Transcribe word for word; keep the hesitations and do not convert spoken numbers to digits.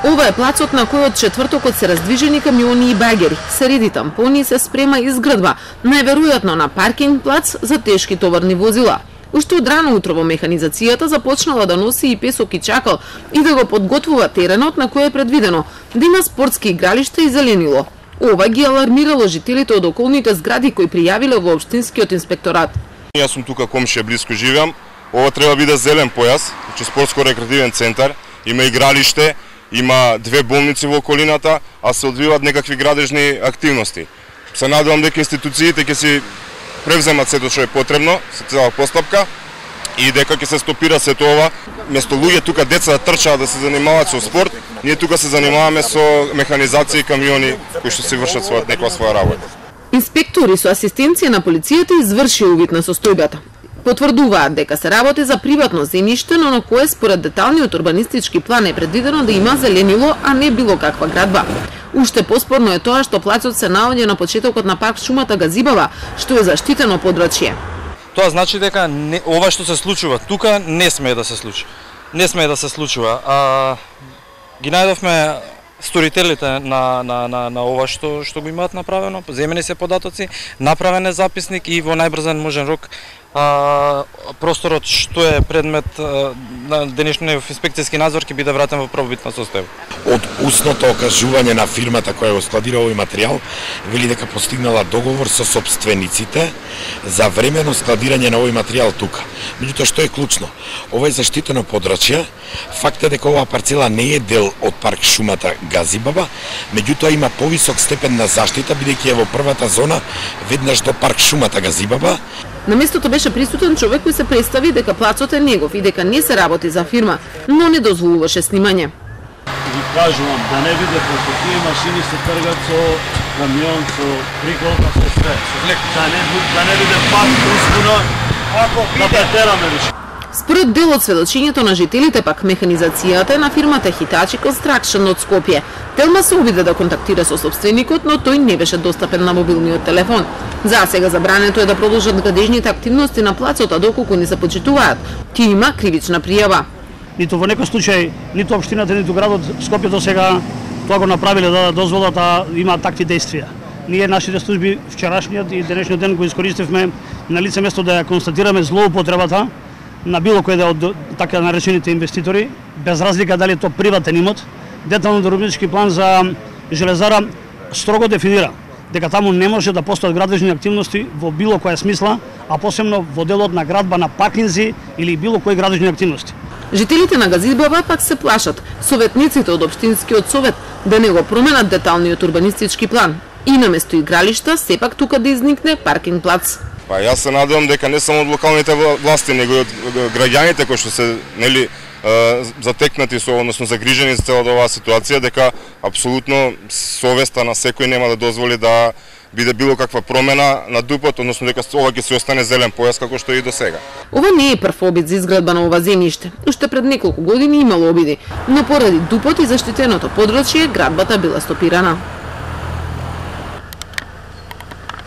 Ова е плацот на кој од четвртокот се раздвижени камиони и багери, се реди тампони и се спрема изградба, најверојатно на паркинг плац за тешки товарни возила. Уште од рано утро во механизацијата започнала да носи и песок и чакал и да го подготвува теренот на кој е предвидено да има спортски игралишта и зеленило. Ова ги алармирало жителите од околните згради кои пријавиле во општинскиот инспекторат. Јас сум тука комшија, близко живеам. Ова треба биде зелен појас, значи спортско-рекреативен центар, има игралиште, има две болници во околината, а се одвиваат некакви градежни активности. Се надевам дека институциите ќе си превземат сето што е потребно, се цела постапка и дека ќе се стопира сето ова. Место луѓе тука деца да трчаат да се занимаваат со спорт, ние тука се занимаваме со механизација и камиони кои што се вршат своја некоја своја работа. Инспектори со асистенција на полицијата изврши увид на состојбата. Потврдуваат дека се работи за приватно земјиште, но на кое според деталниот урбанистички план е предвидено да има зеленило, а не било каква градба. Уште поспорно е тоа што плацот се наоѓа на почетокот на парк шумата Газибава, што е заштитено подрачје. Тоа значи дека не, ова што се случува тука не смее да се случи. Не смее да се случува. А, ги најдовме сторителите на, на, на, на ова што, што го имаат направено, земени се податоци, направен е записник и во најбрзан можен рок а, просторот што е предмет а, на денешниот инспекцијски надзор ќе биде вратен во првобитна состојба. Од устното окажување на фирмата која го складира овој материјал, вели дека постигнала договор со сопствениците за времено складирање на овој материјал тука. Меѓутоа што е клучно? Ова е заштитено подрачје. Факт е дека оваа парцела не е дел од парк шумата Газибаба, меѓутоа има повисок степен на заштита бидејќи е во првата зона веднаш до парк шумата Газибаба. На местото беше присутен човек кој се представи дека плацот е негов и дека не се работи за фирма, но не дозволуваше снимање. Ви кажувам да не биде како тие машини се тргат со камион, со приколка, со све. Да не, да не биде пак успуна, ако да претераме више. Според дел од сведочењето на жителите пак механизацијата е на фирмата Hitachi Construction од Скопје. Телма се обиде да контактира со собственикот, но тој не беше достапен на мобилниот телефон. За сега забрането е да продолжат градежните активности на плацот, а доколку не се почитуваат, ќе има кривична пријава. Ниту во некој случај, ниту општината, ниту градот Скопје до сега тоа го направиле да дозволат да има такви действија. Ние нашите служби вчерашниот и денешниот ден го искористивме на лице место да ја констатираме злоупотребата на било кој да од така наречените инвеститори, без разлика дали е то приватен имот. Деталниот урбанистички план за железара строго дефинира дека таму не може да постојат градежни активности во било која смисла, а посебно во делот на градба на паркинзи или било кои градежни активности. Жителите на Газибаба пак се плашат советниците од општинскиот совет да не го променат деталниот урбанистички план и наместо игралишта сепак тука да изникне паркинг плац. Па јас се надевам дека не само од локалните власти, него и од граѓаните кои што се нели затекнати со, односно загрижени за целата оваа ситуација, дека апсолутно совеста на секој нема да дозволи да биде било каква промена на ДУП-от, односно дека ова ќе се остане зелен појас како што е и до сега. Ова не е прв обид за изградба на ова земјиште. Уште пред неколку години имало обиди, но поради ДУП-от и заштитеното подрачје градбата била стопирана.